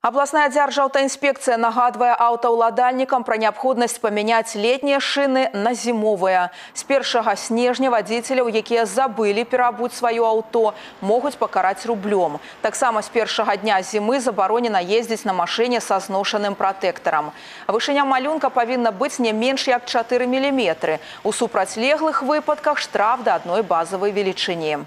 Областная дзяржаўтаінспекцыя нагадвае аўтаўладальнікам пра неабходнасць памяняць летнія шыны на зімовыя. З 1 снежня вадзіцеляў, якія забылі пераабуць сваё аўто, могуць пакараць рублём. Таксама з першага дня зімы забаронена ездзіць на машыне са зношаным пратэктарам. Вышыня малюнка павінна быць не менш як 4 мм. У супрацьлеглых выпадках штраф да адной базавай велічыні.